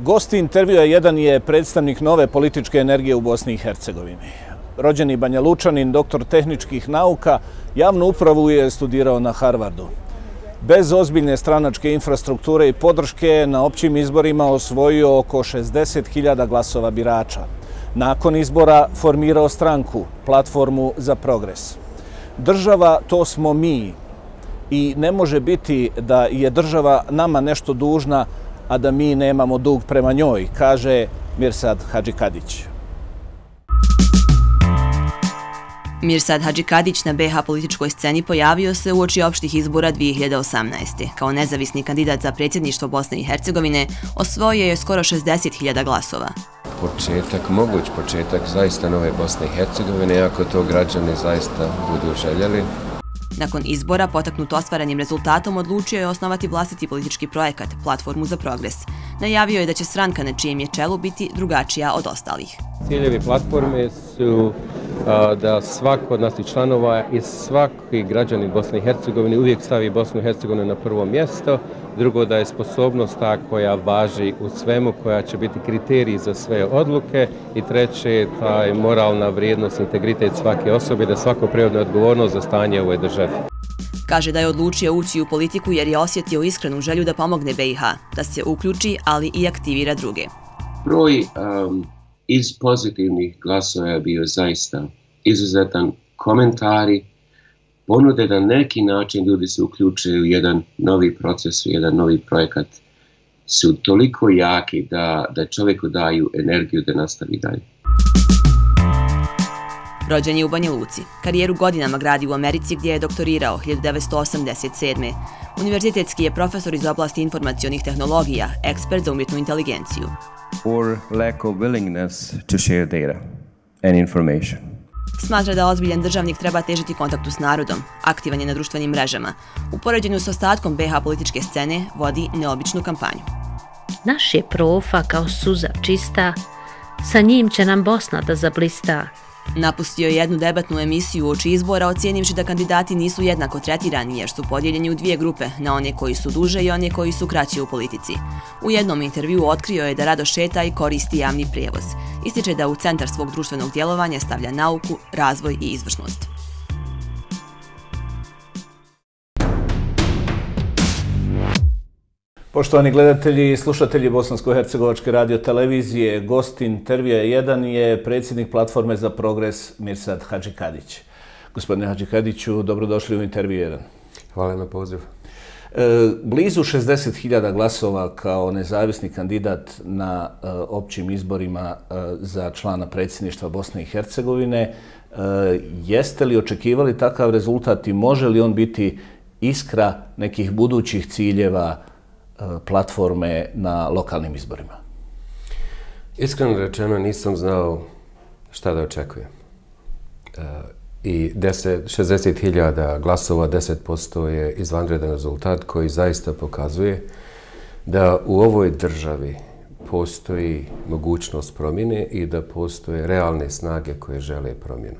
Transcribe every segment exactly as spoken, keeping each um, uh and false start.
Gost intervjua jedan je predstavnik nove političke energije u Bosni i Hercegovini. Rođeni Banja Lučanin, doktor tehničkih nauka, javnu upravu je studirao na Harvardu. Bez ozbiljne stranačke infrastrukture i podrške na općim izborima osvojio oko šezdeset hiljada glasova birača. Nakon izbora formirao stranku, Platformu za progres. Država, to smo mi. I ne može biti da je država nama nešto dužna, a da mi nemamo dug prema njoj, kaže Mirsad Hadžikadić. Mirsad Hadžikadić na be ha političkoj sceni pojavio se uoči opštih izbora dvije hiljade osamnaeste. Kao nezavisni kandidat za predsjedništvo Bosne i Hercegovine osvojio je skoro šezdeset hiljada glasova. Početak, moguć početak zaista nove Bosne i Hercegovine, ako to građani zaista budu željeli. Nakon izbora, potaknut ostvarenim rezultatom, odlučio je osnovati vlastiti politički projekat, Platformu za progres. Najavio je da će stranka na čijem je čelu biti drugačija od ostalih. Ciljevi platforme su a, da svako od naših članova i svaki građanin Bosne i Hercegovine uvijek stavi Bosnu i Hercegovinu na prvo mjesto. Drugo, da je sposobnost ta koja važi u svemu, koja će biti kriterij za sve odluke. I treće, ta je moralna vrijednost, integritet svake osobe, da svako preuzme odgovornost za stanje u ovoj državi. Kaže da je odlučio ući u politiku jer je osjetio iskrenu želju da pomogne be i ha, da se uključi, ali i aktivira druge. Broj um, iz pozitivnih glasova je bio zaista izuzetan. Komentari, ponude da neki način ljudi se uključuju u jedan novi proces, u jedan novi projekat, su toliko jaki da, da čovjeku daju energiju da nastavi dalje. Rođen je u Banja Luci. Karijeru godinama gradi u Americi gdje je doktorirao hiljadu devetsto osamdeset sedme. Univerzitetski je profesor iz oblasti informacionih tehnologija, ekspert za umjetnu inteligenciju. Or lack of willingness to share data and information. Smatra da ozbiljan državnik treba težiti kontaktu s narodom, aktivan je na društvenim mrežama. U poređenju s ostatkom be ha političke scene vodi neobičnu kampanju. Naš je profa kao suza čista, sa njim će nam Bosna da zablista. Napustio je jednu debatnu emisiju uoči izbora, ocijenivši da kandidati nisu jednako tretirani jer su podijeljeni u dvije grupe, na one koji su duže i one koji su kraći u politici. U jednom intervjuu otkrio je da rado šeta i koristi javni prijevoz. Ističe da u centar svog društvenog djelovanja stavlja nauku, razvoj i izvršnost. Poštovani gledatelji i slušatelji Bosansko-hercegovačke radiotelevizije, gost intervjua jedan je predsjednik Platforme za progres Mirsad Hadžikadić. Gospodine Hadžikadiću, dobrodošli u intervju jedan. Hvala na poziv. E, blizu šezdeset hiljada glasova kao nezavisni kandidat na e, općim izborima e, za člana predsjedništva Bosne i Hercegovine. E, jeste li očekivali takav rezultat i može li on biti iskra nekih budućih ciljeva platforme na lokalnim izborima? Iskreno rečeno nisam znao šta da očekujem. I šezdeset hiljada glasova, deset posto je izvanredan rezultat koji zaista pokazuje da u ovoj državi postoji mogućnost promjene i da postoje realne snage koje žele promjenu.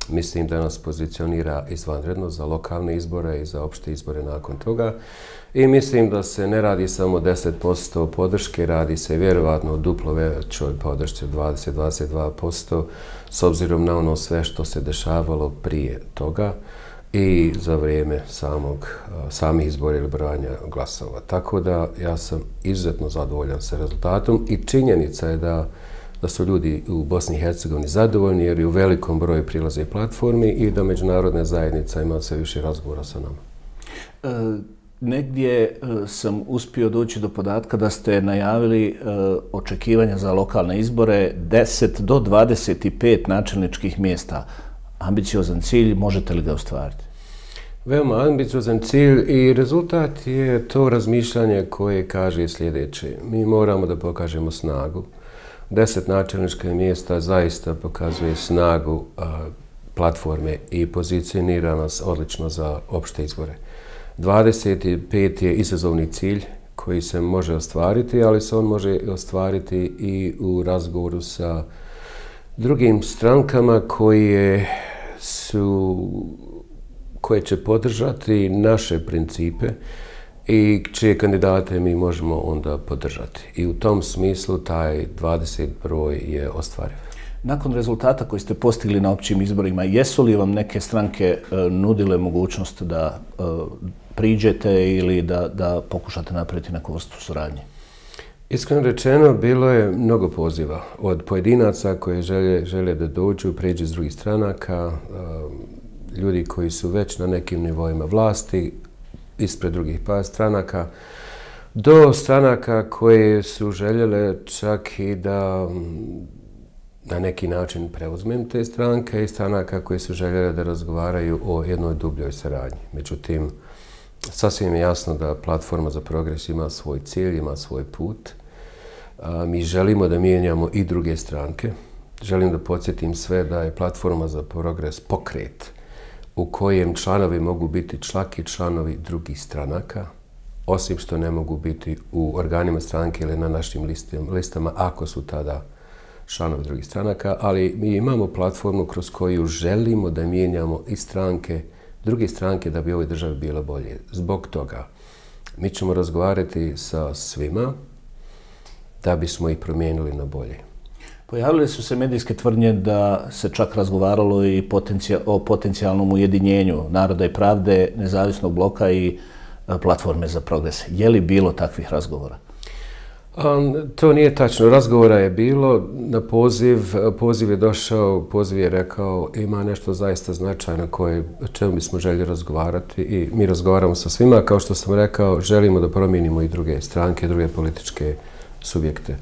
Mislim da nas pozicionira izvanredno za lokalne izbore i za opšte izbore nakon toga. I mislim da se ne radi samo deset posto podrške, radi se vjerovatno duplo većoj podršci od dvadeset do dvadeset dva posto s obzirom na ono sve što se dešavalo prije toga i za vrijeme samog, samih izbora ili brojanja glasova. Tako da ja sam izuzetno zadovoljan sa rezultatom i činjenica je da da su ljudi u Bosni i Hercegovini zadovoljni jer i u velikom broju prilaze platformi i da međunarodna zajednica ima sve više razgovora sa nama. E, negdje e, sam uspio doći do podatka da ste najavili e, očekivanja za lokalne izbore deset do dvadeset pet načelničkih mjesta. Ambiciozan cilj, možete li ga ostvariti? Veoma ambiciozan cilj i rezultat je to razmišljanje koje kaže sljedeće. Mi moramo da pokažemo snagu. Deset načelničkih mjesta zaista pokazuje snagu a, platforme i pozicionira nas odlično za opšte izbore. dvadeset pet je izazovni cilj koji se može ostvariti, ali se on može ostvariti i u razgovoru sa drugim strankama koje su koje će podržati naše principe i čije kandidate mi možemo onda podržati. I u tom smislu taj dvadeset broj je ostvariv. Nakon rezultata koji ste postigli na općim izborima, jesu li vam neke stranke e, nudile mogućnost da e, priđete ili da, da pokušate napraviti neku vrstu suradnje? Iskreno rečeno, bilo je mnogo poziva od pojedinaca koji žele, žele da dođu, priđu iz drugih stranaka, e, ljudi koji su već na nekim nivoima vlasti, ispred drugih pa stranaka, do stranaka koje su željele čak i da na neki način preuzmem te stranke i stranaka koje su željele da razgovaraju o jednoj dubljoj saradnji. Međutim, sasvim je jasno da Platforma za progres ima svoj cilj, ima svoj put. A, mi želimo da mijenjamo i druge stranke. Želim da podsjetim sve da je Platforma za progres pokret u kojem članovi mogu biti čak i članovi drugih stranaka, osim što ne mogu biti u organima stranke ili na našim listama ako su tada članovi drugih stranaka, ali mi imamo platformu kroz koju želimo da mijenjamo i stranke, druge stranke da bi ovoj državi bilo bolje. Zbog toga mi ćemo razgovarati sa svima da bismo ih promijenili na bolje. Pojavile su se medijske tvrdnje da se čak razgovaralo i potencija, o potencijalnom ujedinjenju Naroda i pravde, Nezavisnog bloka i Platforme za progres. Je li bilo takvih razgovora? Um, to nije tačno. Razgovora je bilo na poziv. Poziv je došao, poziv je rekao ima nešto zaista značajno koje, o čemu bismo željeli razgovarati i mi razgovaramo sa svima. Kao što sam rekao, želimo da promijenimo i druge stranke, druge političke subjekte.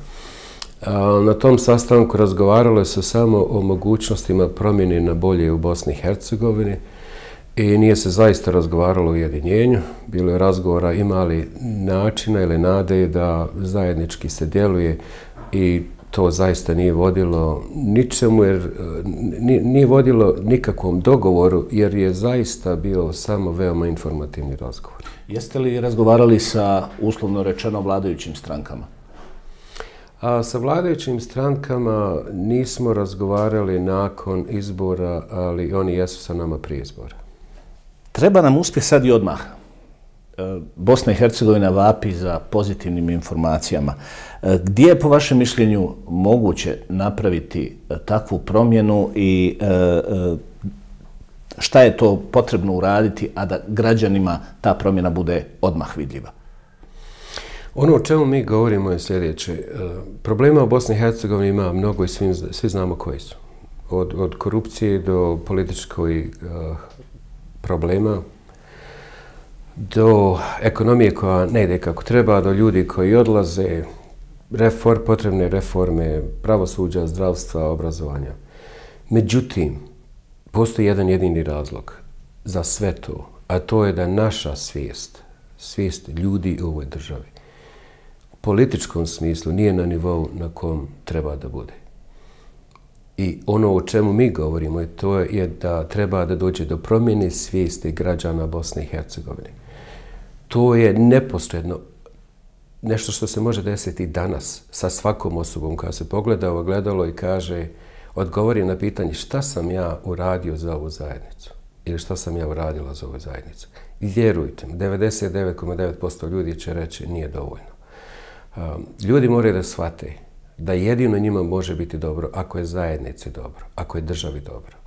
Na tom sastanku razgovaralo se samo o mogućnostima promjene na bolje u Bosni i Hercegovini i nije se zaista razgovaralo o ujedinjenju. Bilo je razgovora ima li načina ili nade da zajednički se djeluje i to zaista nije vodilo ničemu, jer nije vodilo nikakvom dogovoru, jer je zaista bio samo veoma informativni razgovor. Jeste li razgovarali sa, uslovno rečeno, vladajućim strankama? A sa vladajućim strankama nismo razgovarali nakon izbora, ali oni jesu sa nama prije izbora. Treba nam uspjeh sad i odmah. Bosna i Hercegovina vapi za pozitivnim informacijama. Gdje je po vašem mišljenju moguće napraviti takvu promjenu i šta je to potrebno uraditi, a da građanima ta promjena bude odmah vidljiva? Ono o čemu mi govorimo je sljedeće. Problema u Bosni i Hercegovini ima mnogo i svi, svi znamo koji su. Od, od korupcije do političkoj uh, problema, do ekonomije koja ne ide kako treba, do ljudi koji odlaze, reform, potrebne reforme, pravosuđa, zdravstva, obrazovanja. Međutim, postoji jedan jedini razlog za sve to, a to je da naša svijest, svijest ljudi u ovoj državi, u političkom smislu nije na nivou na kom treba da bude. I ono o čemu mi govorimo je to je da treba da dođe do promjene svijesti građana Bosne i Hercegovine. To je neposredno nešto što se može desiti danas sa svakom osobom koja se pogleda u ogledalo i kaže, odgovori na pitanje šta sam ja uradio za ovu zajednicu ili šta sam ja uradila za ovu zajednicu. I vjerujte, devedeset devet zarez devet posto ljudi će reći nije dovoljno. Ljudi moraju da shvate da jedino njima može biti dobro ako je zajednici dobro, ako je državi dobro.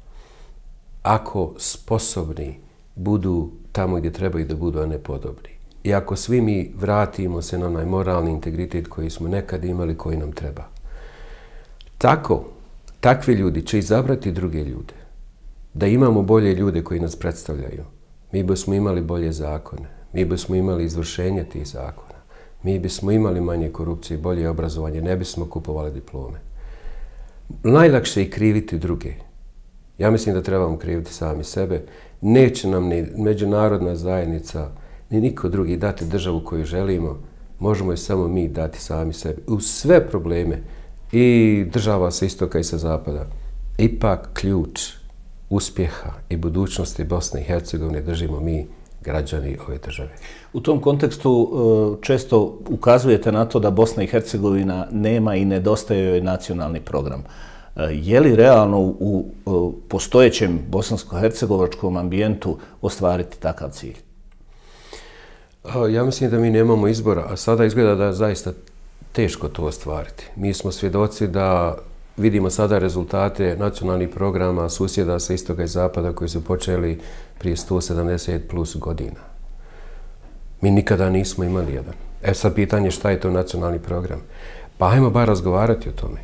Ako sposobni budu tamo gdje trebaju da budu, a ne podobni. I ako svi mi vratimo se na onaj moralni integritet koji smo nekad imali, koji nam treba. Tako, takvi ljudi će izabrati druge ljude. Da imamo bolje ljude koji nas predstavljaju. Mi bismo imali bolje zakone. Mi bismo imali izvršenje tih zakona. Mi bismo imali manje korupcije, bolje obrazovanje, ne bismo kupovali diplome. Najlakše je kriviti druge. Ja mislim da trebamo kriviti sami sebe. Neće nam ni međunarodna zajednica, ni niko drugi dati državu koju želimo. Možemo je samo mi dati sami sebi. U sve probleme, i država sa istoka i sa zapada, ipak ključ uspjeha i budućnosti Bosne i Hercegovine držimo mi, građani ove države. U tom kontekstu često ukazujete na to da Bosna i Hercegovina nema i nedostaje joj nacionalni program. Je li realno u postojećem bosansko-hercegovačkom ambijentu ostvariti takav cilj? Ja mislim da mi nemamo izbora, a sada izgleda da je zaista teško to ostvariti. Mi smo svjedoci da vidimo sada rezultate nacionalnih programa susjeda sa istoga i zapada koji su počeli prije sto sedamdeset plus godina. Mi nikada nismo imali jedan. E sad pitanje šta je to nacionalni program. Pa ajmo bar razgovarati o tome.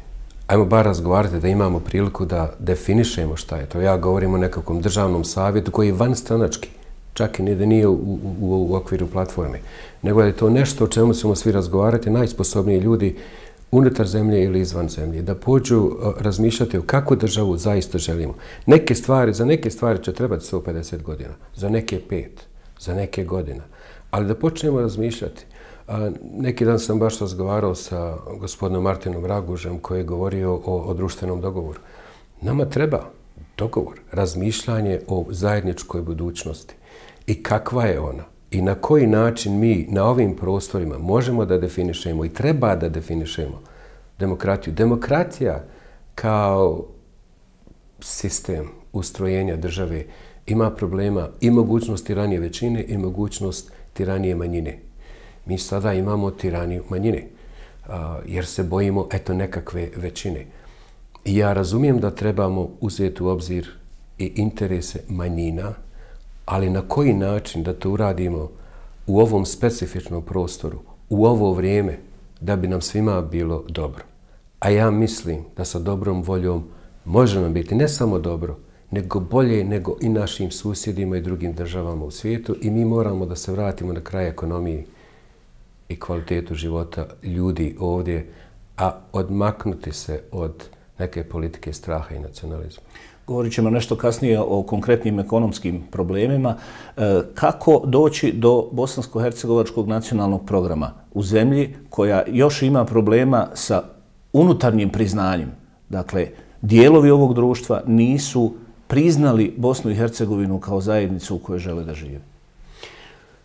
Ajmo bar razgovarati da imamo priliku da definišemo šta je to. Ja govorim o nekakvom državnom savjetu koji je vanstranački. Čak i da nije u, u, u okviru platforme. Nego je to nešto o čemu ćemo svi razgovarati, najsposobniji ljudi unutar zemlje ili izvan zemlje, da pođu razmišljati o kakvu državu zaista želimo. Neke stvari, za neke stvari će trebati sto pedeset godina, za neke pet, za neke godina. Ali da počnemo razmišljati. A, neki dan sam baš razgovarao sa gospodinom Martinom Ragužem koji je govorio o, o društvenom dogovoru. Nama treba dogovor, razmišljanje o zajedničkoj budućnosti. I kakva je ona? I na koji način mi na ovim prostorima možemo da definišemo i treba da definišemo demokratiju. Demokratija kao sistem ustrojenja države ima problema i mogućnost tiranije većine i mogućnost tiranije manjine. Mi sada imamo tiraniju manjine jer se bojimo eto nekakve većine. I ja razumijem da trebamo uzeti u obzir i interese manjina, ali na koji način da to uradimo u ovom specifičnom prostoru, u ovo vrijeme, da bi nam svima bilo dobro. A ja mislim da sa dobrom voljom može nam biti ne samo dobro, nego bolje nego i našim susjedima i drugim državama u svijetu i mi moramo da se vratimo na kraj ekonomiji i kvalitetu života ljudi ovdje, a odmaknuti se od neke politike straha i nacionalizma. Govorit ćemo nešto kasnije o konkretnim ekonomskim problemima. Kako doći do bosansko-hercegovačkog nacionalnog programa u zemlji koja još ima problema sa unutarnjim priznanjem? Dakle, dijelovi ovog društva nisu priznali Bosnu i Hercegovinu kao zajednicu u kojoj žele da žive.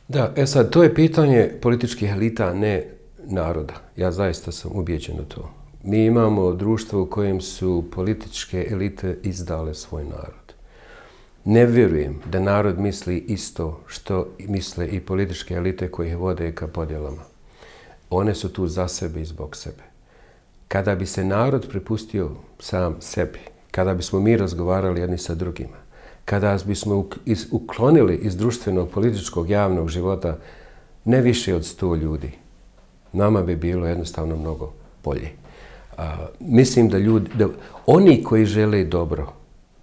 Da, e sad, to je pitanje političkih elita, ne naroda. Ja zaista sam ubijeđen u to. Mi imamo društvo u kojem su političke elite izdale svoj narod. Ne vjerujem da narod misli isto što misle i političke elite koje ih vode ka podjelama. One su tu za sebe i zbog sebe. Kada bi se narod prepustio sam sebi, kada bismo mi razgovarali jedni sa drugima, kada bismo uklonili iz društvenog, političkog, javnog života ne više od sto ljudi, nama bi bilo jednostavno mnogo bolje. A, mislim da ljudi, da oni koji žele dobro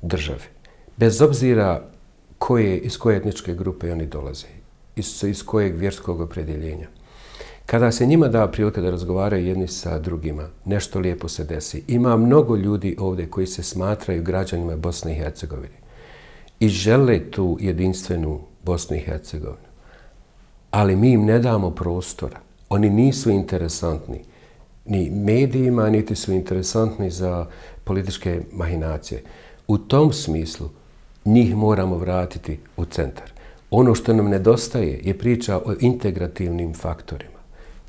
državi, bez obzira koje, iz koje etničke grupe oni dolaze, iz, iz kojeg vjerskog opredjeljenja, kada se njima da prilika da razgovaraju jedni sa drugima, nešto lijepo se desi. Ima mnogo ljudi ovdje koji se smatraju građanima Bosne i Hercegovine i žele tu jedinstvenu Bosnu i Hercegovinu. Ali mi im ne damo prostora. Oni nisu interesantni ni medijima, niti su interesantni za političke mahinacije. U tom smislu njih moramo vratiti u centar. Ono što nam nedostaje je priča o integrativnim faktorima.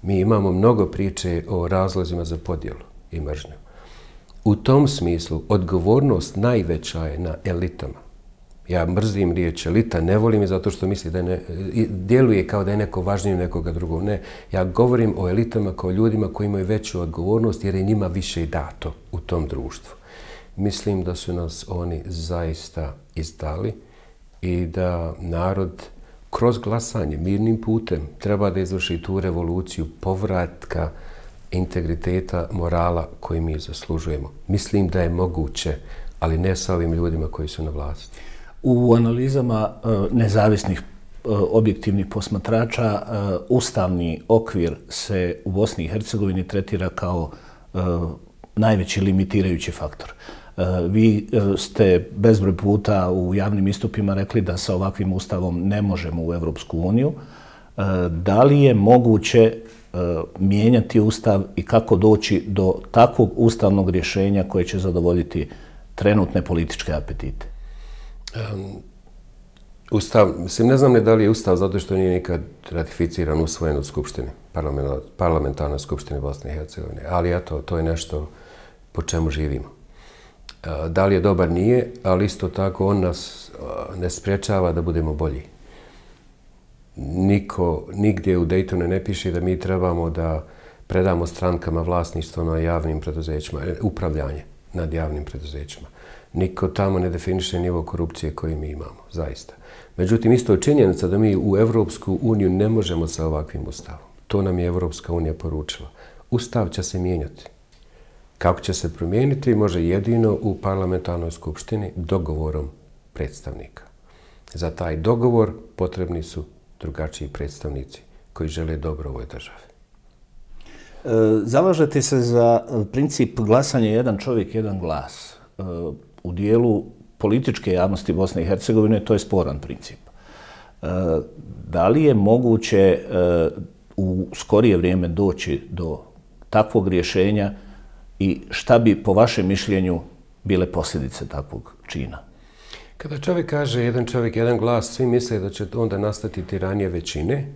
Mi imamo mnogo priče o razlozima za podjelu i mržnju. U tom smislu odgovornost najveća je na elitama. Ja mrzim riječ elita, ne volim je zato što misli da ne, djeluje kao da je neko važniji nekoga drugog. Ne, ja govorim o elitama kao ljudima koji imaju veću odgovornost jer je njima više dato u tom društvu. Mislim da su nas oni zaista izdali i da narod kroz glasanje, mirnim putem, treba da izvrši tu revoluciju povratka integriteta, morala koji mi zaslužujemo. Mislim da je moguće, ali ne sa ovim ljudima koji su na vlasti. U analizama nezavisnih objektivnih posmatrača ustavni okvir se u Bosni i Hercegovini tretira kao najveći limitirajući faktor. Vi ste bezbroj puta u javnim istupima rekli da sa ovakvim ustavom ne možemo u Evropsku uniju. Da li je moguće mijenjati ustav i kako doći do takvog ustavnog rješenja koje će zadovoljiti trenutne političke apetite? Um, ustav, mislim, ne znam ne da li je ustav zato što nije nikad ratificiran, usvojen u Skupštini, parlamentarnoj Skupštini Bosne i Hercegovine, ali eto, to je nešto po čemu živimo. Uh, da li je dobar, nije, ali isto tako on nas uh, ne sprečava da budemo bolji. Niko, nigdje u Daytonu ne piše da mi trebamo da predamo strankama vlasništvo na javnim preduzećima, upravljanje nad javnim preduzećima. Niko tamo ne definiše nivo korupcije koji mi imamo, zaista. Međutim, isto je činjenica da mi u Evropsku uniju ne možemo sa ovakvim ustavom. To nam je Evropska unija poručila. Ustav će se mijenjati. Kako će se promijeniti, može jedino u parlamentarnoj skupštini dogovorom predstavnika. Za taj dogovor potrebni su drugačiji predstavnici koji žele dobro ovoj državi. Zalažete se za princip glasanja jedan čovjek, jedan glas. U dijelu političke javnosti Bosne i Hercegovine to je sporan princip. Da li je moguće u skorije vrijeme doći do takvog rješenja i šta bi po vašem mišljenju bile posljedice takvog čina? Kada čovjek kaže jedan čovjek, jedan glas, svi misle da će onda nastati tiranija većine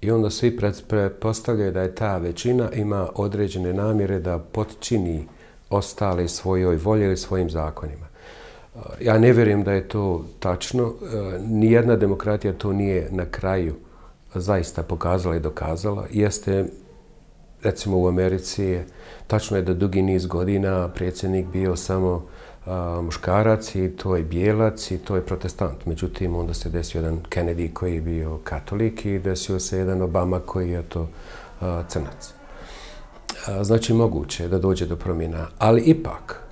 i onda svi pretpostavljaju da je ta većina ima određene namjere da potčini ostale svojoj volji ili svojim zakonima. Ja ne vjerujem da je to tačno. Nijedna demokratija to nije na kraju zaista pokazala i dokazala. Jeste, recimo u Americi, tačno je da dugi niz godina predsjednik bio samo a, muškarac i to je bijelac i to je protestant. Međutim, onda se desio jedan Kennedy koji je bio katolik i desio se jedan Obama koji je to a, crnac. A, znači, moguće je da dođe do promjena, ali ipak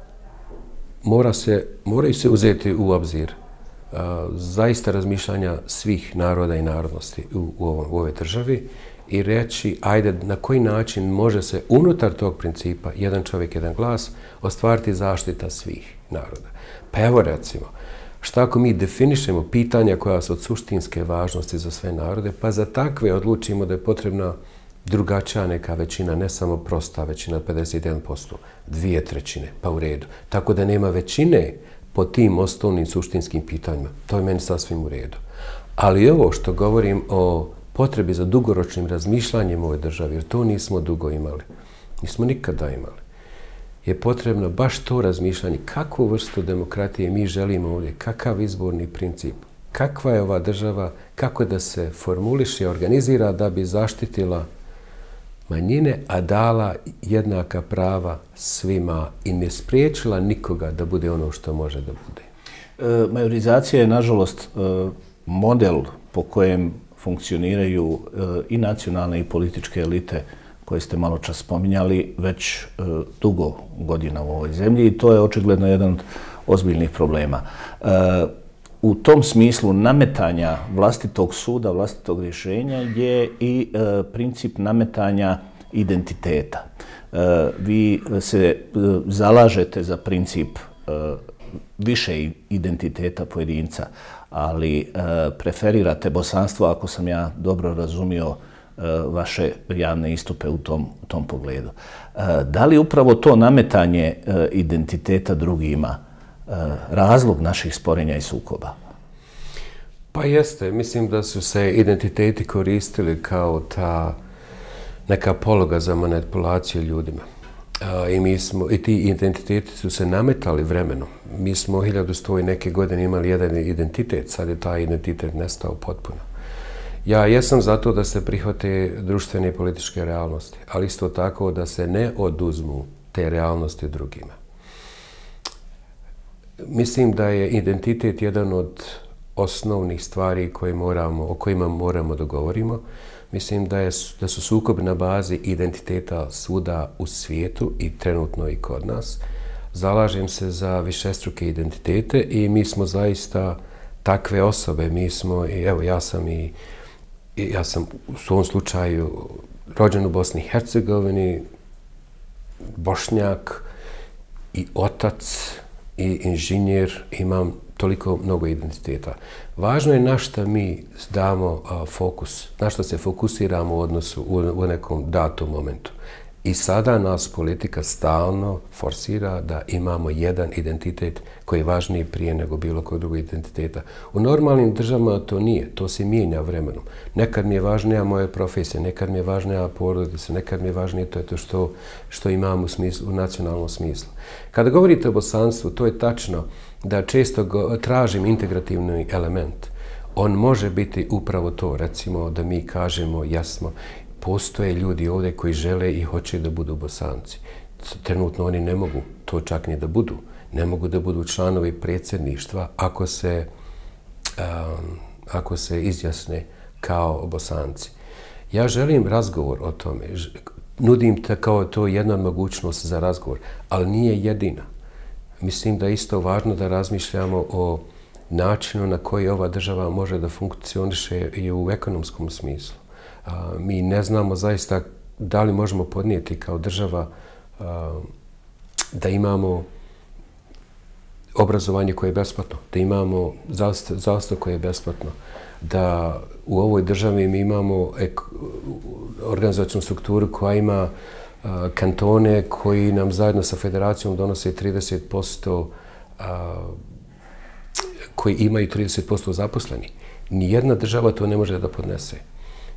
mora se, moraju se uzeti u obzir a, zaista razmišljanja svih naroda i narodnosti u, u, ovom, u ovoj državi i reći, ajde, na koji način može se unutar tog principa jedan čovjek, jedan glas ostvariti zaštita svih naroda. Pa evo recimo, šta ako mi definišemo pitanja koja su od suštinske važnosti za sve narode, pa za takve odlučimo da je potrebna drugačija neka većina, ne samo prosta većina, pedeset jedan posto, dvije trećine, pa u redu. Tako da nema većine po tim osnovnim suštinskim pitanjima. To je meni sasvim u redu. Ali ovo što govorim o potrebi za dugoročnim razmišljanjem u ovoj državi, jer to nismo dugo imali, nismo nikada imali, je potrebno baš to razmišljanje kakvu vrstu demokratije mi želimo ovdje, kakav izborni princip, kakva je ova država, kako da se formuliše i organizira da bi zaštitila manjine, a dala jednaka prava svima i ne spriječila nikoga da bude ono što može da bude. E, majorizacija je, nažalost, model po kojem funkcioniraju i nacionalne i političke elite koje ste malo čas spominjali već dugo godina u ovoj zemlji i to je očigledno jedan od ozbiljnih problema. U tom smislu nametanja vlastitog suda, vlastitog rješenja je i princip nametanja identiteta. Vi se zalažete za princip više identiteta pojedinca, ali e, preferirate bosanstvo, ako sam ja dobro razumio e, vaše javne istupe u tom, u tom pogledu. E, da li upravo to nametanje e, identiteta drugima e, razlog naših sporenja i sukoba? Pa jeste. Mislim da su se identiteti koristili kao ta neka pologa za manipulaciju ljudima. I, mi smo, i ti identiteti su se nametali vremenom. Mi smo hiljadu sto i neke godine imali jedan identitet, sad je taj identitet nestao potpuno. Ja jesam zato da se prihvate društvene i političke realnosti, ali isto tako da se ne oduzmu te realnosti drugima. Mislim da je identitet jedan od osnovnih stvari koje moramo, o kojima moramo da govorimo. Mislim da, je, da su sukobi na bazi identiteta svuda u svijetu i trenutno i kod nas. Zalažem se za višestruke identitete i mi smo zaista takve osobe. Mi smo, i evo ja sam i, i ja sam u svom slučaju rođen u Bosni i Hercegovini, Bošnjak i otac i inženjer, imam toliko mnogo identiteta. Važno je na što mi damo a, fokus, na što se fokusiramo u odnosu u, u nekom datom momentu. I sada nas politika stalno forsira da imamo jedan identitet koji je važniji prije nego bilo kod drugog identiteta. U normalnim državama to nije, to se mijenja vremenom. Nekad mi je važnija moja profesija, nekad mi je važnija porodica, nekad mi je važnije to, je to što, što imam u, smislu, u nacionalnom smislu. Kada govorite o bosanstvu, to je tačno da često go, tražim integrativni element. On može biti upravo to, recimo da mi kažemo jasno, postoje ljudi ovdje koji žele i hoće da budu Bosanci. Trenutno oni ne mogu to čak ni da budu. Ne mogu da budu članovi predsjedništva ako se, um, ako se izjasne kao Bosanci. Ja želim razgovor o tome. Nudim te kao to jedna mogućnost za razgovor, ali nije jedina. Mislim da je isto važno da razmišljamo o načinu na koji ova država može da funkcioniše i u ekonomskom smislu. A, mi ne znamo zaista da li možemo podnijeti kao država a, da imamo obrazovanje koje je besplatno, da imamo zdravstvo koje je besplatno, da u ovoj državi mi imamo organizacijnu strukturu koja ima a, kantone koji nam zajedno sa federacijom donose trideset posto a, koji imaju trideset posto zaposleni. Nijedna država to ne može da podnese.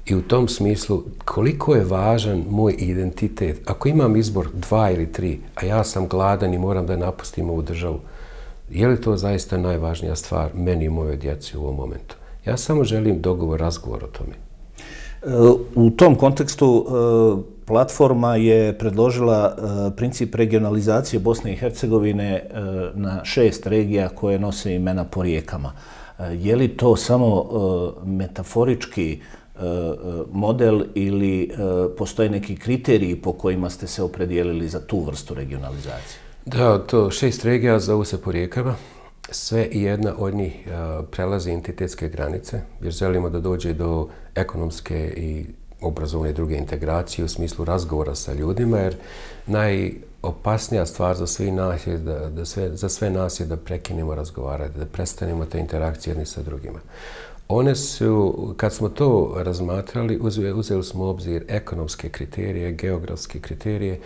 I u tom smislu, koliko je važan moj identitet, ako imam izbor dva ili tri, a ja sam gladan i moram da napustim ovu državu, je li to zaista najvažnija stvar meni i mojoj djeci u ovom momentu? Ja samo želim dogovor, razgovor o tome. U tom kontekstu platforma je predložila princip regionalizacije Bosne i Hercegovine na šest regija koje nose imena po rijekama. Je li to samo metaforički model ili postoje neki kriteriji po kojima ste se opredijelili za tu vrstu regionalizacije? Da, to šest regija zovu se po rijekama. Sve i jedna od njih prelazi entitetske granice, jer želimo da dođe do ekonomske i obrazovne druge integracije u smislu razgovora sa ljudima, jer najopasnija stvar za sve nas je da, da sve, za sve nas je da prekinemo razgovarati, da prestanemo te interakcije jedni sa drugima. One su, kad smo to razmatrali, uzeli smo u obzir ekonomske kriterije, geografske kriterije,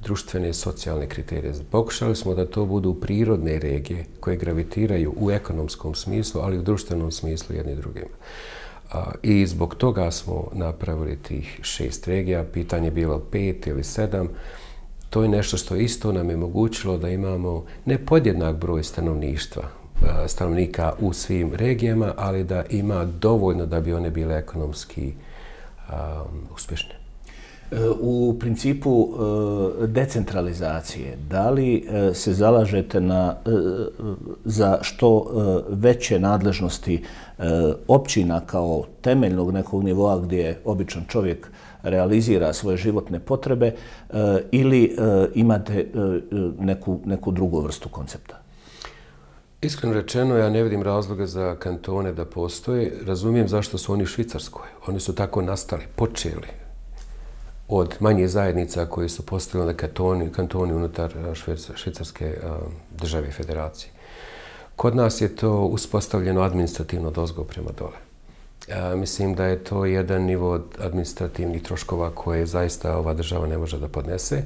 društvene i socijalne kriterije. Pokušali smo da to budu prirodne regije koje gravitiraju u ekonomskom smislu, ali i u društvenom smislu jedni drugima. I zbog toga smo napravili tih šest regija. Pitanje je bilo pet ili sedam. To je nešto što isto nam je omogućilo da imamo ne podjednak broj stanovništva, stanovnika u svim regijama, ali da ima dovoljno da bi one bile ekonomski um, uspješne. U principu decentralizacije, da li se zalažete na, za što veće nadležnosti općina kao temeljnog nekog nivoa gdje običan čovjek realizira svoje životne potrebe ili imate neku, neku drugu vrstu koncepta? Iskreno rečeno, ja ne vidim razloga za kantone da postoje. Razumijem zašto su oni u Švicarskoj. Oni su tako nastali, počeli od manje zajednica koje su postavili kantoni, kantoni unutar švicarske države i federacije. Kod nas je to uspostavljeno administrativno dozgo prema dole. Ja mislim da je to jedan nivo administrativnih troškova koje zaista ova država ne može da podnese.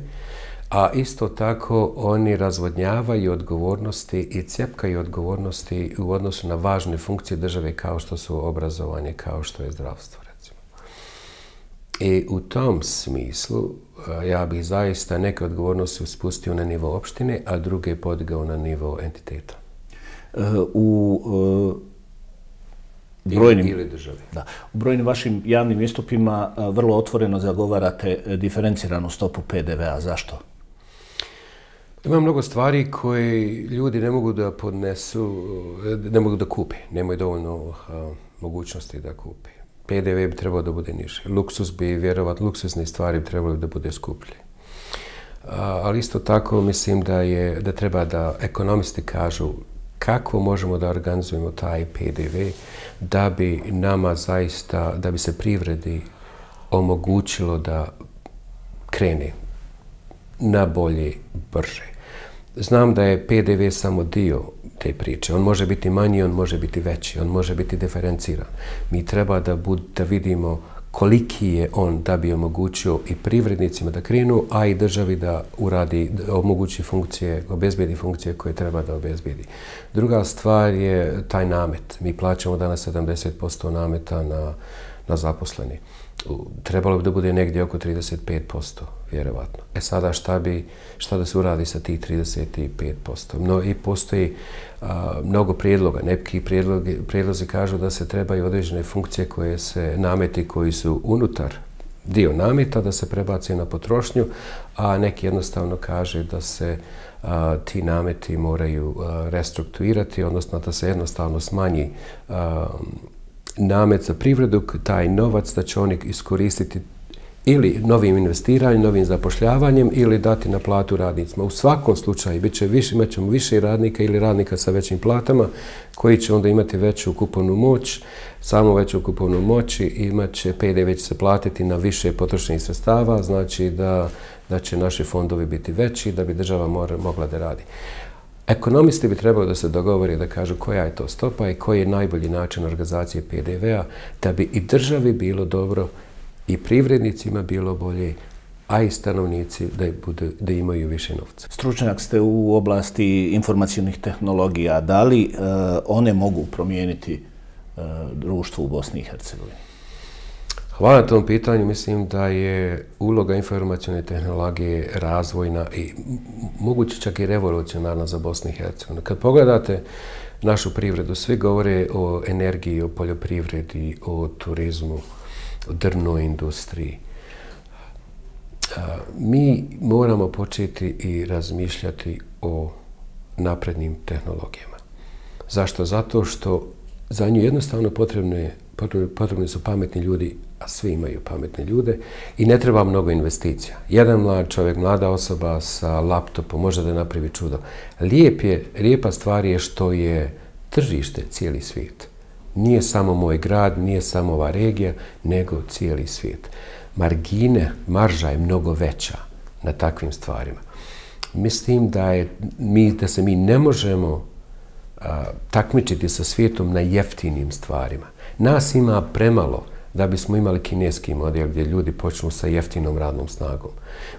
A isto tako oni razvodnjavaju odgovornosti i cjepkaju odgovornosti u odnosu na važne funkcije države kao što su obrazovanje, kao što je zdravstvo, recimo. I u tom smislu ja bih zaista neke odgovornosti spustio na nivo opštine, a druge podigao na nivo entiteta. U brojnim, ili države. Da, u brojnim vašim javnim istupima vrlo otvoreno zagovarate diferenciranu stopu P D V A. Zašto? Ima mnogo stvari koje ljudi ne mogu da podnesu, ne mogu da kupe. Nemaju dovoljno a, mogućnosti da kupe. P D V bi trebao da bude niži. Luksus bi, vjerovat, luksuzne stvari bi trebali da bude skuplje. A, ali isto tako mislim da, je, da treba da ekonomisti kažu kako možemo da organizujemo taj P D V da bi nama zaista, da bi se privredi omogućilo da krene na bolje, brže. Znam da je P D V samo dio te priče. On može biti manji, on može biti veći, on može biti diferenciran. Mi treba da, bud, da vidimo koliki je on da bi omogućio i privrednicima da krenu, a i državi da uradi, da omogući funkcije, obezbedi funkcije koje treba da obezbedi. Druga stvar je taj namet. Mi plaćamo danas sedamdeset posto nameta na, na zaposleni. trebalo bi da bude negdje oko trideset pet posto, vjerovatno. E sada šta bi, šta da se uradi sa tih trideset pet posto? No, i postoji a, mnogo prijedloga. Neki prijedlozi, prijedlozi kažu da se trebaju određene funkcije koje se nameti koji su unutar dio nameta da se prebaci na potrošnju, a neki jednostavno kaže da se a, ti nameti moraju a, restrukturirati, odnosno da se jednostavno smanji a, namet za privredu, taj novac da će oni iskoristiti ili novim investiranjem, novim zapošljavanjem ili dati na platu radnicima. U svakom slučaju bit će više, imat ćemo više radnika ili radnika sa većim platama koji će onda imati veću kupovnu moć, samo veću kupovnu moć i imat će P D V će se platiti na više potrošenih sredstava, znači da, da će naši fondovi biti veći, da bi država mora, mogla da radi. Ekonomisti bi trebali da se dogovore da kažu koja je to stopa i koji je najbolji način organizacije P D V-a da bi i državi bilo dobro i privrednicima bilo bolje, a i stanovnici da, bude, da imaju više novca. Stručnjak ste u oblasti informacionih tehnologija. Da li e, one mogu promijeniti e, društvo u Bosni i Hercegovini? Hvala na tom pitanju. Mislim da je uloga informacijone tehnologije razvojna i moguće čak i revolucionarna za Bosnu i Hercegovinu. Kad pogledate našu privredu, svi govore o energiji, o poljoprivredi, o turizmu, o drvnoj industriji. Mi moramo početi i razmišljati o naprednim tehnologijama. Zašto? Zato što za nju jednostavno potrebne, potrebni su pametni ljudi, a svi imaju pametne ljude i ne treba mnogo investicija. Jedan mlad čovjek, mlada osoba sa laptopom može da napravi čudo. Lijep je, lijepa stvar je što je tržište cijeli svijet. Nije samo moj grad, nije samo ova regija, nego cijeli svijet. Margine, marža je mnogo veća na takvim stvarima. Mislim da, je, mi, da se mi ne možemo a, takmičiti sa svijetom na jeftinim stvarima. Nas ima premalo da bismo imali kineski model gdje ljudi počnu sa jeftinom radnom snagom.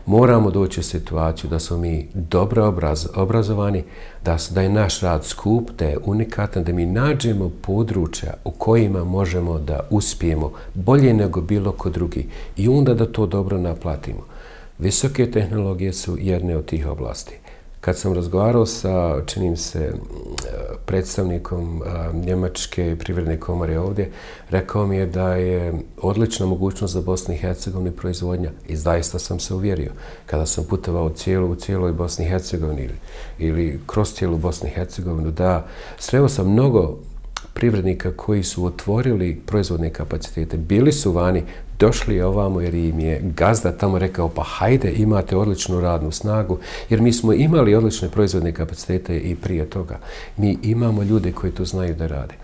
Moramo doći u situaciju da smo mi dobro obraz, obrazovani, da, da je naš rad skup, da je unikatan, da mi nađemo područja u kojima možemo da uspijemo bolje nego bilo ko drugi i onda da to dobro naplatimo. Visoke tehnologije su jedne od tih oblasti. Kad sam razgovarao sa, činim se, predstavnikom Njemačke privredne komore ovdje, rekao mi je da je odlična mogućnost za Bosnu i Hercegovini proizvodnja i zaista sam se uvjerio. Kada sam putovao cijelu, u cijeloj Bosni i Hercegovini ili, ili kroz cijelu Bosnu i Hercegovinu, da sreo sam mnogo privrednika koji su otvorili proizvodne kapacitete, bili su vani, došli ovamo jer im je gazda tamo rekao pa hajde imate odličnu radnu snagu jer mi smo imali odlične proizvodne kapacitete i prije toga. Mi imamo ljude koji to znaju da rade.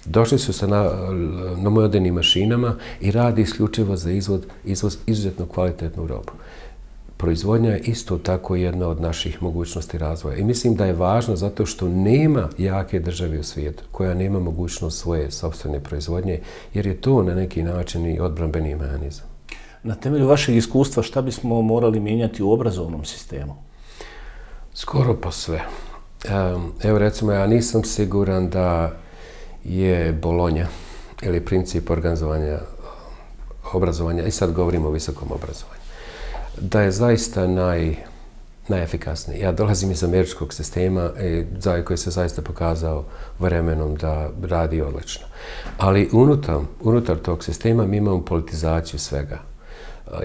Došli su sa na, na modernim mašinama i radi isključivo za izvoz, izvoz izuzetno kvalitetnu robu. Proizvodnja je isto tako jedna od naših mogućnosti razvoja. I mislim da je važno zato što nema jake države u svijetu koja nema mogućnost svoje sopstvene proizvodnje, jer je to na neki način i odbrambeni mehanizam. Na temelju vašeg iskustva šta bismo morali mijenjati u obrazovnom sistemu? Skoro pa sve. Evo recimo, ja nisam siguran da je Bolonja ili princip organizovanja obrazovanja, i sad govorimo o visokom obrazovanju, da je zaista naj, najefikasniji. Ja dolazim iz američkog sistema e, koji se zaista pokazao vremenom da radi odlično. Ali unutar, unutar tog sistema mi imamo politizaciju svega.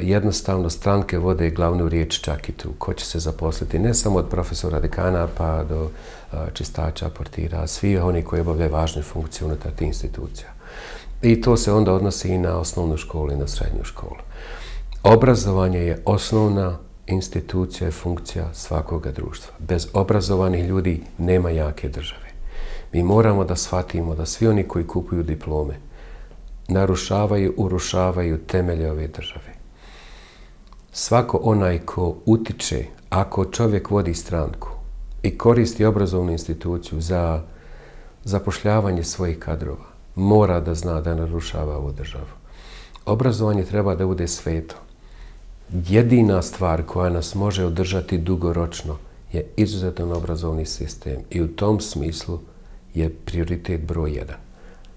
Jednostavno stranke vode glavnu riječ čak i tu. Ko će se zaposliti ne samo od profesora dekana pa do čistača, portira, svi oni koji obavljaju važne funkcije unutar tih institucija. I to se onda odnosi i na osnovnu školu i na srednju školu. Obrazovanje je osnovna institucija i funkcija svakoga društva. Bez obrazovanih ljudi nema jake države. Mi moramo da shvatimo da svi oni koji kupuju diplome narušavaju, urušavaju temelje ove države. Svako onaj ko utiče, ako čovjek vodi stranku i koristi obrazovnu instituciju za zapošljavanje svojih kadrova, mora da zna da narušava ovu državu. Obrazovanje treba da bude sveto. Jedina stvar koja nas može održati dugoročno je izuzetan obrazovni sistem i u tom smislu je prioritet broj jedan.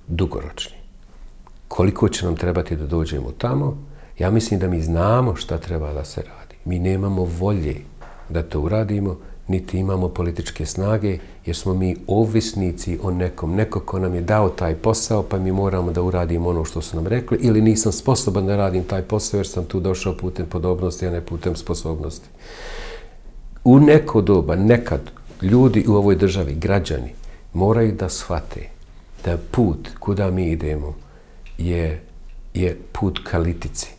Dugoročni. Koliko će nam trebati da dođemo tamo, Ja mislim da mi znamo šta treba da se radi. Mi nemamo volje da to uradimo, niti imamo političke snage, jer smo mi ovisnici o nekom. Neko ko nam je dao taj posao, pa mi moramo da uradimo ono što su nam rekli, ili nisam sposoban da radim taj posao, jer sam tu došao putem podobnosti, a ne putem sposobnosti. U neko doba, nekad, ljudi u ovoj državi, građani, moraju da shvate da put kuda mi idemo je, je put ka litici,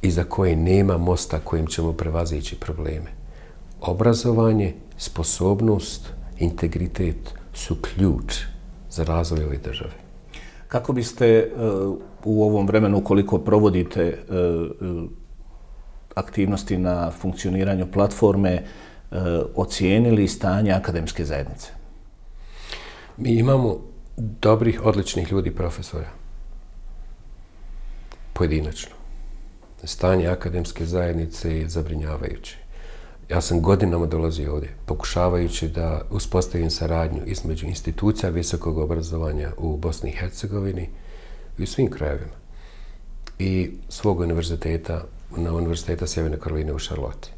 iza koje nema mosta kojim ćemo prevazići probleme. Obrazovanje, sposobnost, integritet su ključ za razvoj ove države. Kako biste uh, u ovom vremenu, koliko provodite uh, aktivnosti na funkcioniranju platforme, uh, ocijenili stanje akademske zajednice? Mi imamo dobrih, odličnih ljudi, profesora. Pojedinačno. Stanje akademske zajednice je zabrinjavajuće. Ja sam godinama dolazio ovdje, pokušavajući da uspostavim saradnju između institucija visokog obrazovanja u Bosni i Hercegovini i u svim krajevima. I svog univerziteta, na Univerziteta Sjeverne Karoline u Charlotte.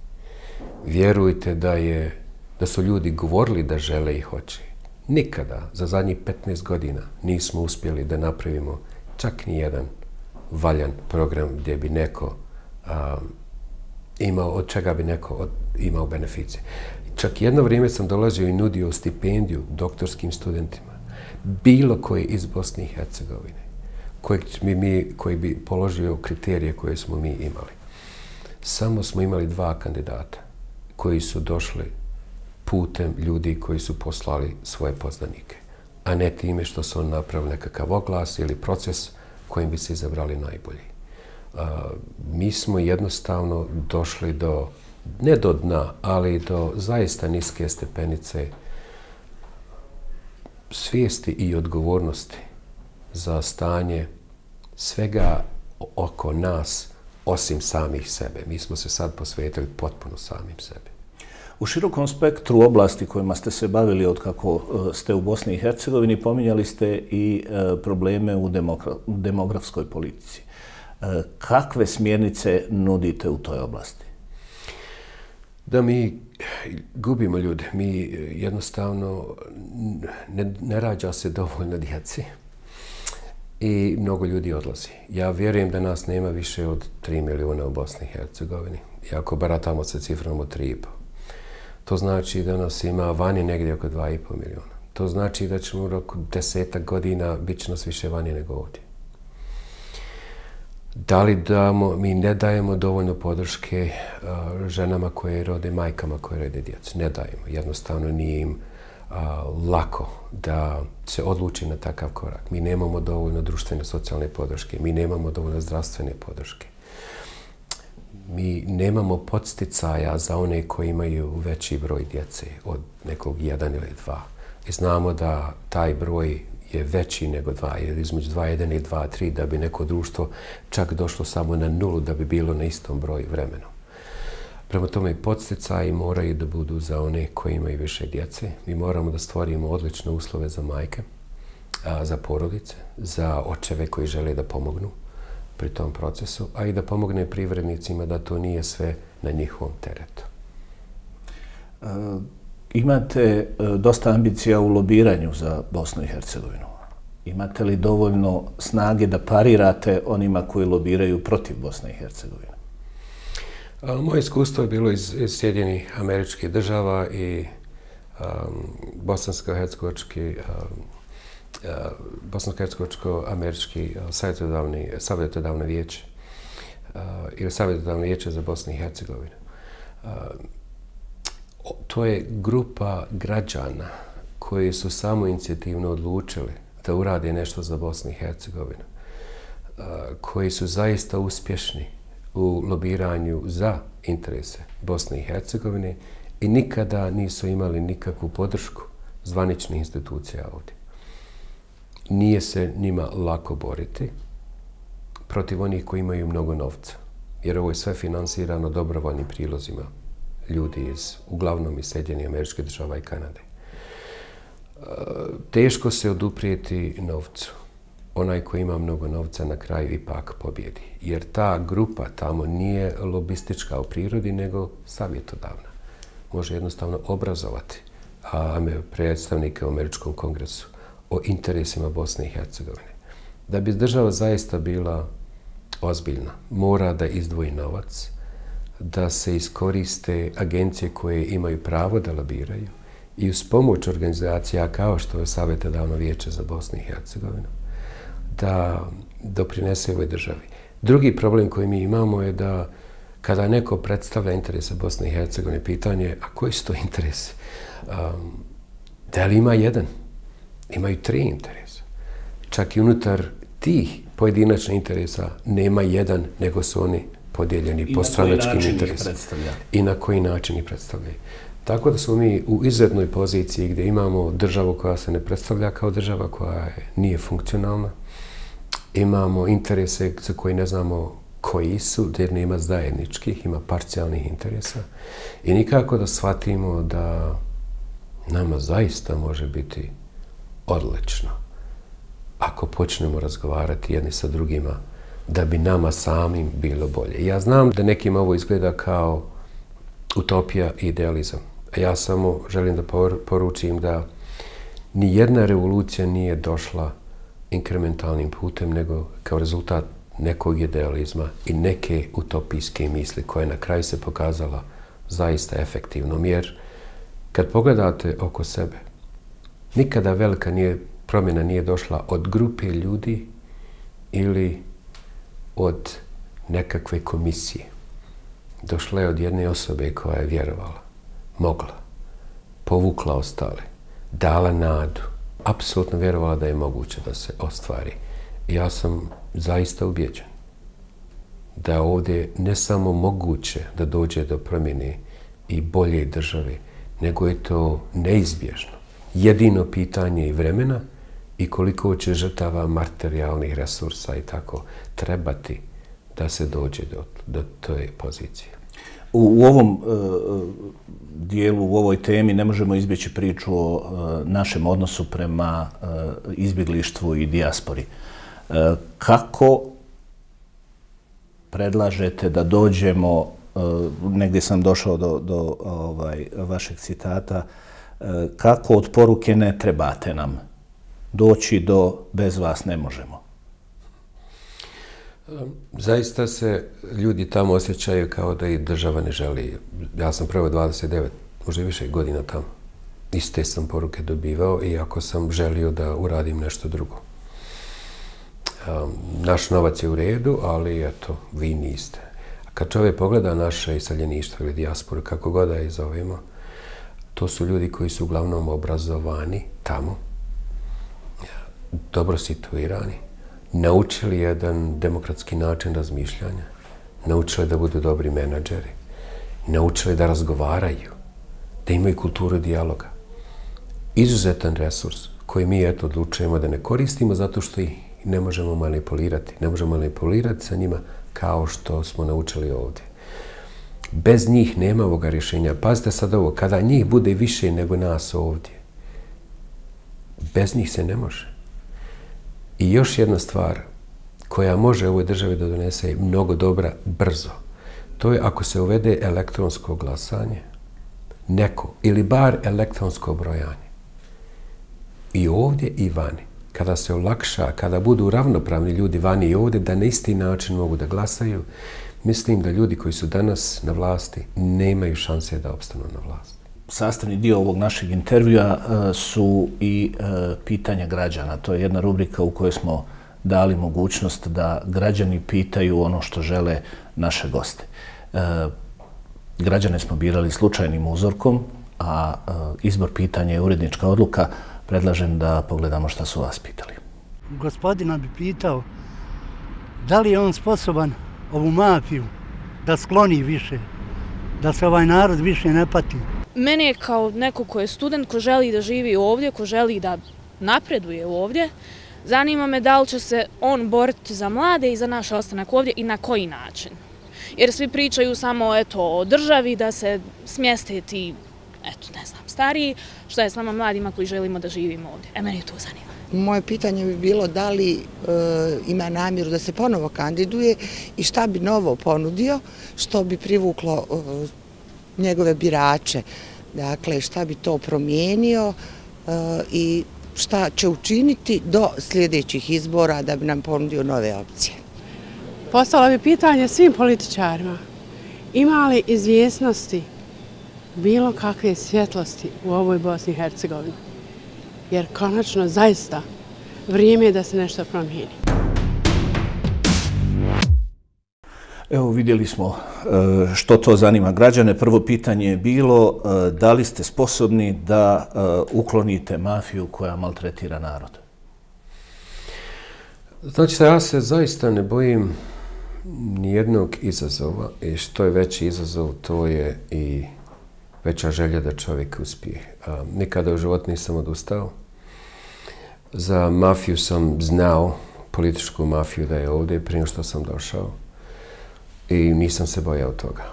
Vjerujte da, je, da su ljudi govorili da žele i hoće. Nikada za zadnjih petnaest godina nismo uspjeli da napravimo čak ni jedan valjan program gdje bi neko um, imao, od čega bi neko od, imao beneficije. Čak jedno vrijeme sam dolazio i nudio stipendiju doktorskim studentima, bilo koji iz Bosne i Hercegovine, koji bi, mi, koji bi položio kriterije koje smo mi imali. Samo smo imali dva kandidata koji su došli putem ljudi koji su poslali svoje poznanike, a ne time što su on napravili nekakav oglas ili proces kojim bi se izabrali najbolji. Uh, mi smo jednostavno došli do, ne do dna, ali do zaista niske stepenice svijesti i odgovornosti za stanje svega oko nas, osim samih sebe. Mi smo se sad posvetili potpuno samim sebi. U širokom spektru oblasti kojima ste se bavili od kako ste u Bosni i Hercegovini, pominjali ste i probleme u demografskoj politici. Kakve smjernice nudite u toj oblasti? Da mi gubimo ljude. Mi jednostavno ne, ne rađa se dovoljno djeci i mnogo ljudi odlazi. Ja vjerujem da nas nema više od tri milijuna u Bosni i Hercegovini. I ako baratamo sa cifrom od tri i pol. To znači da nas ima vani negdje oko dva i pol milijuna. To znači da ćemo u roku desetak godina bit će nas više vani nego ovdje. Da li damo, mi ne dajemo dovoljno podrške uh, ženama koje rode, majkama koje rode djecu. Ne dajemo. Jednostavno nije im uh, lako da se odluči na takav korak. Mi nemamo dovoljno društvene socijalne podrške. Mi nemamo dovoljno zdravstvene podrške. Mi nemamo podsticaja za one koji imaju veći broj djece od nekog jedan ili dva. I znamo da taj broj je veći nego dva, ili između dva jedan i dva tri, da bi neko društvo čak došlo samo na nulu, da bi bilo na istom broju vremenu. Prema tome, podsticaji moraju da budu za one koji imaju više djece. Mi moramo da stvorimo odlične uslove za majke, a, za porodice, za očeve koji žele da pomognu pri tom procesu, a i da pomogne privrednicima da to nije sve na njihovom teretu. E, imate e, dosta ambicija u lobiranju za Bosnu i Hercegovinu. Imate li dovoljno snage da parirate onima koji lobiraju protiv Bosne i Hercegovine? A, moje iskustvo je bilo iz, iz Sjedinjenih Američkih Država i um, bosansko-hercegovački um, Uh, Bosansko-hercegovačko-američki uh, savjetodavni, savjetodavno vijeće uh, ili savjetodavno vijeće za Bosnu i Hercegovinu. Uh, to je grupa građana koji su samo inicijativno odlučili da urade nešto za Bosnu i Hercegovinu, uh, koji su zaista uspješni u lobiranju za interese Bosne i Hercegovine i nikada nisu imali nikakvu podršku zvaničnih institucija ovdje. Nije se njima lako boriti protiv onih koji imaju mnogo novca. Jer ovo je sve finansirano dobrovoljnim prilozima ljudi iz, uglavnom iz Sjedinjenih Američkih Država i Kanade. Teško se oduprijeti novcu. onaj koji ima mnogo novca na kraju ipak pobjedi. Jer ta grupa tamo nije lobistička u prirodi, nego savjetodavna. Može jednostavno obrazovati a predstavnike u Američkom kongresu o interesima Bosne i Hercegovine. Da bi država zaista bila ozbiljna, mora da izdvoji novac, da se iskoriste agencije koje imaju pravo da lobiraju i uz pomoć organizacija kao što je Savjetodavno vijeće za Bosnu i Hercegovinu, da doprinese ovoj državi. Drugi problem koji mi imamo je da kada neko predstavlja interese Bosne i Hercegovine, pitanje je, a koji su to interesi? Um, da li ima jedan? Imaju tri interesa. Čak i unutar tih pojedinačnih interesa nema jedan, nego su oni podijeljeni po stranačkim interesima. I na koji način ih predstavljaju. Tako da smo mi u izuzetnoj poziciji gdje imamo državu koja se ne predstavlja kao država, koja je, nije funkcionalna. Imamo interese za koji ne znamo koji su, jer nema zajedničkih, ima parcijalnih interesa. I nikako da shvatimo da nama zaista može biti odlično ako počnemo razgovarati jedni sa drugima da bi nama samim bilo bolje. Ja znam da nekim ovo izgleda kao utopija i idealizam. Ja samo želim da poručim da ni jedna revolucija nije došla inkrementalnim putem, nego kao rezultat nekog idealizma i neke utopijske misli koja na kraju se pokazala zaista efektivnom. Jer kad pogledate oko sebe, nikada velika nije, promjena nije došla od grupe ljudi ili od nekakve komisije. Došla je od jedne osobe koja je vjerovala, mogla, povukla ostale, dala nadu, apsolutno vjerovala da je moguće da se ostvari. Ja sam zaista ubjeđen da je ovdje ne samo moguće da dođe do promjene i bolje države, nego je to neizbježno. Jedino pitanje i vremena i koliko će žrtava materijalnih resursa i tako trebati da se dođe do, do toj pozicije. U, u ovom e, dijelu, u ovoj temi ne možemo izbjeći priču o e, našem odnosu prema e, izbjeglištvu i dijaspori. E, kako predlažete da dođemo, e, negdje sam došao do, do ovaj, vašeg citata, e, kako od poruke ne trebate nam doći do bez vas ne možemo? Zaista se ljudi tamo osjećaju kao da i država ne želi. Ja sam prvo dvadeset devet, možda više godina tamo. Iste sam poruke dobivao, iako sam želio da uradim nešto drugo. Um, naš novac je u redu, ali eto, vi niste. Kad čovjek pogleda naše iseljeništvo ili dijasporu, kako god da je zovemo, to su ljudi koji su uglavnom obrazovani tamo, dobro situirani, naučili jedan demokratski način razmišljanja, naučili da budu dobri menadžeri, naučili da razgovaraju, da imaju kulturu dijaloga. Izuzetan resurs koji mi eto odlučujemo da ne koristimo zato što ih ne možemo manipulirati. Ne možemo manipulirati sa njima kao što smo naučili ovdje. Bez njih nema ovoga rješenja. Pazite sad ovo, kada njih bude više nego nas ovdje, bez njih se ne može. I još jedna stvar koja može ovoj državi da donese mnogo dobra brzo, to je ako se uvede elektronsko glasanje, neko, ili bar elektronsko brojanje. I ovdje i vani. Kada se olakša, kada budu ravnopravni ljudi vani i ovdje, da na isti način mogu da glasaju, mislim da ljudi koji su danas na vlasti nemaju šanse da opstanu na vlasti. Sastavni dio ovog našeg intervjua su i pitanja građana. To je jedna rubrika u kojoj smo dali mogućnost da građani pitaju ono što žele naše goste. Građane smo birali slučajnim uzorkom, a izbor pitanja je urednička odluka. Predlažem da pogledamo šta su vas pitali. Gospodina bi pitao da li je on sposoban ovu mafiju da skloni više, da se ovaj narod više ne pati. Mene je kao neko ko je student, ko želi da živi ovdje, ko želi da napreduje ovdje, zanima me da li će se on boriti za mlade i za naš ostanak ovdje i na koji način. Jer svi pričaju samo eto, o državi, da se smjeste ti, eto, ne znam, stariji, što je s nama mladima koji želimo da živimo ovdje. E, meni to zanima. Moje pitanje bi bilo da li e, ima namjeru da se ponovo kandiduje i šta bi novo ponudio, što bi privuklo e, njegove birače. Dakle, šta bi to promijenio e, i šta će učiniti do sljedećih izbora da bi nam ponudio nove opcije. Postalo bi pitanje svim političarima. Ima li izvjesnosti bilo kakve svjetlosti u ovoj Bosni i Hercegovini? Jer konačno zaista vrijeme je da se nešto promijeni. Evo vidjeli smo što to zanima građane. Prvo pitanje je bilo da li ste sposobni da uklonite mafiju koja maltretira narod? Znači, ja se zaista ne bojim nijednog izazova i što je veći izazov, to je i veća želja da čovjek uspije. Nikada u životu nisam odustao. Za mafiju sam znao, političku mafiju, da je ovdje prije što sam došao i nisam se bojao toga.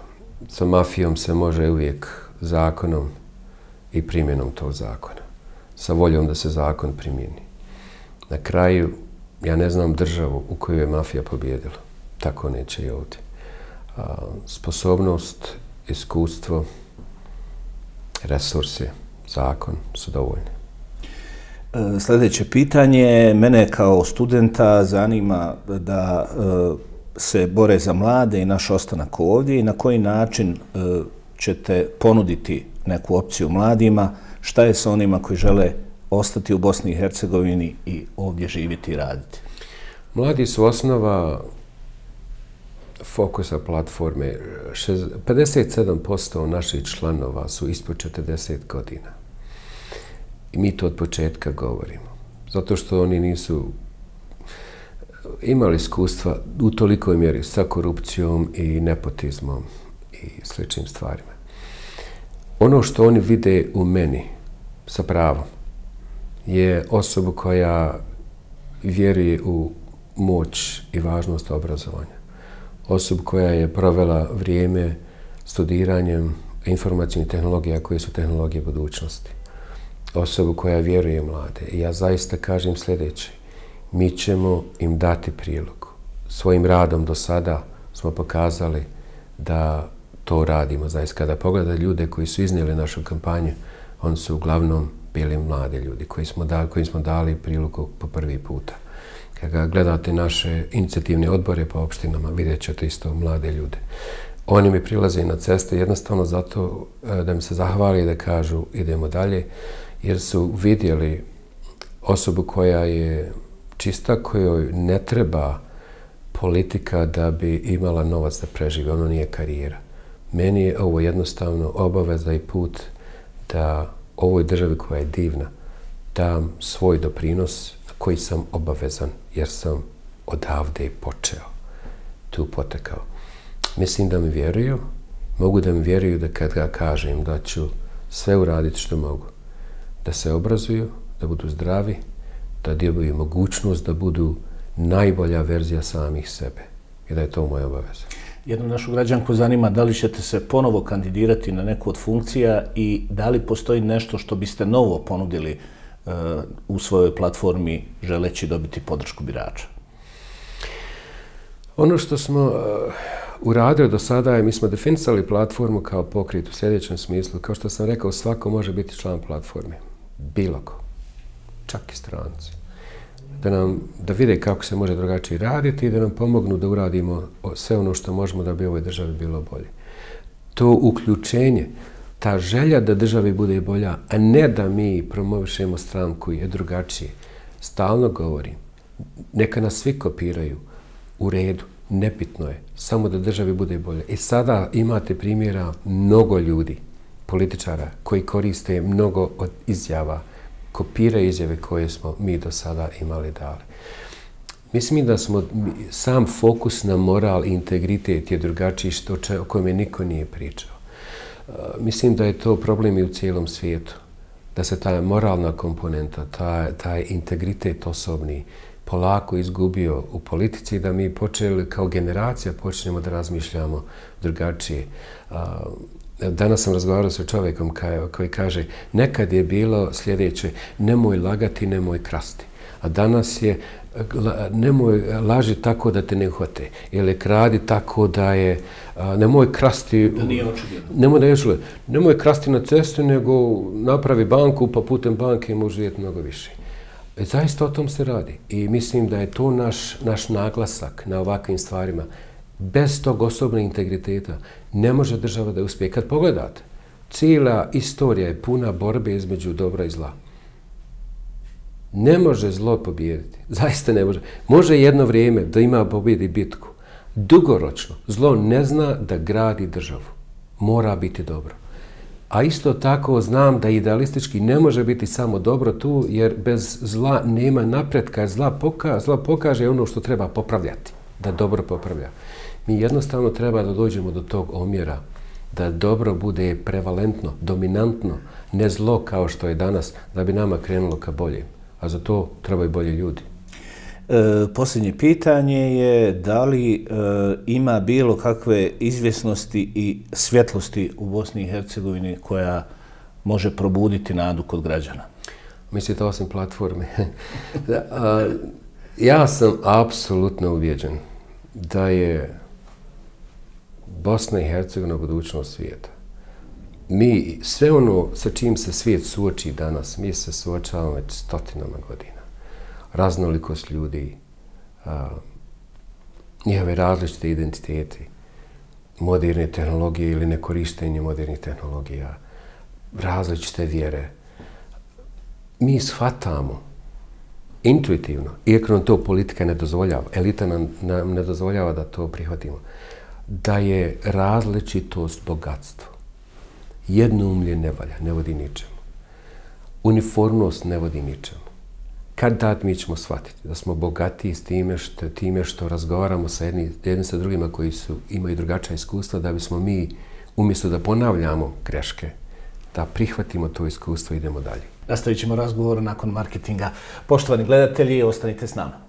Sa mafijom se može uvijek zakonom i primjenom tog zakona. Sa voljom da se zakon primjeni. Na kraju, ja ne znam državu u kojoj je mafija pobjedila. Tako neće i ovdje. Sposobnost, iskustvo, resursi, zakon su dovoljni. Sljedeće pitanje, mene kao studenta zanima da se bore za mlade i naš ostanak ovdje i na koji način ćete ponuditi neku opciju mladima, šta je sa onima koji žele ostati u Bosni i Hercegovini i ovdje živjeti i raditi? Mladi su osnova fokusa platforme. pedeset sedam posto naših članova su ispod četrdeset godina. I mi to od početka govorimo. Zato što oni nisu imali iskustva u tolikoj mjeri sa korupcijom i nepotizmom i sličnim stvarima. Ono što oni vide u meni, sa pravom, je osoba koja vjeruje u moć i važnost obrazovanja. Osoba koja je provela vrijeme studiranjem informacijnih tehnologija koje su tehnologije budućnosti. Osoba koja vjeruje mlade. I ja zaista kažem sljedeće. Mi ćemo im dati priliku. Svojim radom do sada smo pokazali da to radimo. Zaista kada pogledate ljude koji su iznijeli našu kampanju, oni su uglavnom bili mlade ljudi koji smo dali, koji smo dali priliku po prvi puta. Kada gledate naše inicijativne odbore po opštinama, vidjet ćete isto mlade ljude. Oni mi prilaze na ceste jednostavno zato da mi se zahvali i da kažu idemo dalje, jer su vidjeli osobu koja je čista, kojoj ne treba politika da bi imala novac da preživi. Ono nije karijera. Meni je ovo jednostavno obaveza i put da ovoj državi koja je divna dam svoj doprinos koji sam obavezan, jer sam odavde počeo, tu potekao. Mislim da mi vjeruju, mogu da mi vjeruju da kad ga kažem da ću sve uraditi što mogu. Da se obrazuju, da budu zdravi, da dobiju mogućnost da budu najbolja verzija samih sebe. I da je to moja obaveza. Jednu našu građanku zanima da li ćete se ponovo kandidirati na neku od funkcija i da li postoji nešto što biste novo ponudili uh, u svojoj platformi želeći dobiti podršku birača? Ono što smo uh, uradili do sada je, mi smo definisali platformu kao pokret u sljedećem smislu. Kao što sam rekao, svako može biti član platforme. Bilo ko. Čak i stranci. Da nam, da vide kako se može drugačije raditi i da nam pomognu da uradimo sve ono što možemo da bi ovoj državi bilo bolje. To uključenje, ta želja da državi bude bolja, a ne da mi promovišemo stranku je drugačije. Stalno govorim, neka nas svi kopiraju u redu, nebitno je, samo da državi bude bolje. I sada imate primjera mnogo ljudi, političara, koji koriste mnogo od izjava, kopiraju izjave koje smo mi do sada imali dali. Mislim da smo, sam fokus na moral i integritet je drugačiji što če, o kojem je niko nije pričao. Uh, mislim da je to problem i u cijelom svijetu. Da se ta moralna komponenta, taj, taj integritet osobni polako izgubio u politici, da mi počeli kao generacija počnemo da razmišljamo drugačije. Uh, Danas sam razgovarao sa čovjekom koji kaže nekad je bilo sljedeće, nemoj lagati, nemoj krasti. A danas je nemoj laži tako da te ne uhvate. Ili kradi tako da je nemoj krasti... Da nije očigledno. Nemoj da je očigledno. Nemoj krasti na cestu, nego napravi banku, pa putem banke može živjeti mnogo više. E, zaista o tom se radi. I mislim da je to naš, naš naglasak na ovakvim stvarima. Bez tog osobnog integriteta ne može država da uspije. Kad pogledate, cijela istorija je puna borbe između dobra i zla. Ne može zlo pobijediti. Zaista ne može. Može jedno vrijeme da ima pobjedi bitku. Dugoročno, zlo ne zna da gradi državu. Mora biti dobro. A isto tako znam da idealistički ne može biti samo dobro tu, jer bez zla nema napretka, jer zla, poka, zla pokaže ono što treba popravljati, da dobro popravlja. Mi jednostavno treba da dođemo do tog omjera, da dobro bude prevalentno, dominantno, ne zlo kao što je danas, da bi nama krenulo ka bolje. A za to trebaju bolji ljudi. E, posljednje pitanje je da li e, ima bilo kakve izvjesnosti i svjetlosti u Bosni i Hercegovini koja može probuditi nadu kod građana? Mislite osim platforme? A, ja sam apsolutno uvjeđen da je Bosna i Hercegovina budućnost svijeta. Mi, sve ono sa čim se svijet suoči danas, mi se suočavamo već stotinama godina. Raznolikost ljudi, a, njihove različite identiteti, moderne tehnologije ili nekorištenje modernih tehnologija, različite vjere. Mi shvatamo intuitivno, iako nam to politika ne dozvoljava, elita nam, nam ne dozvoljava da to prihvatimo, da je različitost bogatstvo. Jednoumlje ne valja, ne vodi ničemu. Uniformnost ne vodi ničemu. Kad tad mi ćemo shvatiti da smo bogatiji s time što, time što razgovaramo sa jedni, jednim sa drugima koji su, imaju drugačija iskustva, da bismo mi, umjesto da ponavljamo greške, da prihvatimo to iskustvo i idemo dalje. Nastavit ćemo razgovor nakon marketinga. Poštovani gledatelji, ostanite s nama.